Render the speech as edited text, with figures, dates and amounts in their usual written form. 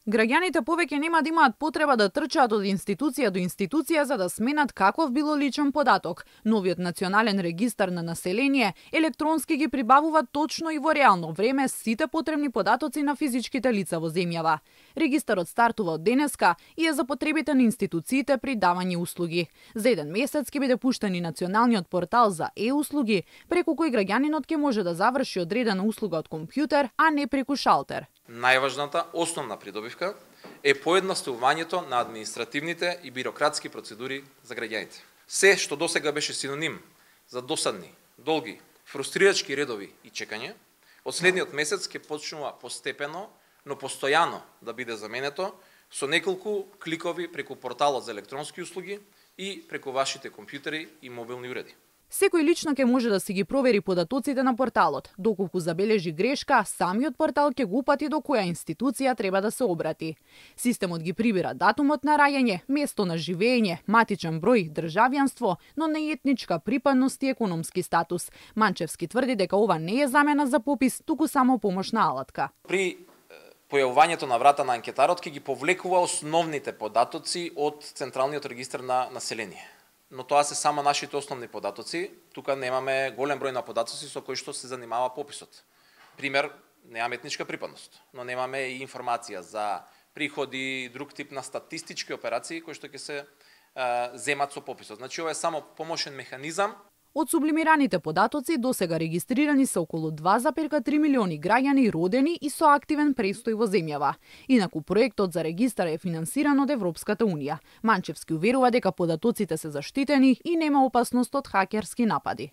Граѓаните повеќе нема да имаат потреба да трчаат од институција до институција за да сменат каков било личен податок. Новиот национален регистар на население електронски ги прибавува точно и во реално време сите потребни податоци на физичките лица во земјава. Регистарот стартува од денеска и е за потребите на институциите при давање услуги. За еден месец ќе биде пуштен и националниот портал за услуги, преку кој граѓанинот ќе може да заврши одредена услуга од компјутер, а не преку шалтер. Најважната основна придобивка е поедноставувањето на административните и бирократски процедури за граѓаните. Се што досега беше синоним за досадни, долги, фрустрирачки редови и чекање, од следниот месец ќе почнува постепено, но постојано да биде заменето со неколку кликови преку порталот за електронски услуги и преку вашите компјутери и мобилни уреди. Секој лично ќе може да си ги провери податоците на порталот. Доколку забележи грешка, самиот портал ќе го упати до која институција треба да се обрати. Системот ги прибира датумот на раѓање, место на живење, матичен број, државјанство, но не етничка припадност и економски статус. Манчевски тврди дека ова не е замена за попис, туку само помошна алатка. При појавувањето на врата на анкетарот ќе ги повлекува основните податоци од Централниот регистар на население. Но тоа се само нашите основни податоци. Тука немаме голем број на податоци со кои што се занимава пописот. Пример, немаме етничка припадност, но немаме и информација за приходи, друг тип на статистички операции кои што ќе се земат со пописот. Значи ова е само помошен механизам. Од сублимираните податоци досега регистрирани се околу 2,3 милиони граѓани родени и со активен престој во земјава. Инаку проектот за регистар е финансиран од Европската унија. Манчевски уверува дека податоците се заштитени и нема опасност од хакерски напади.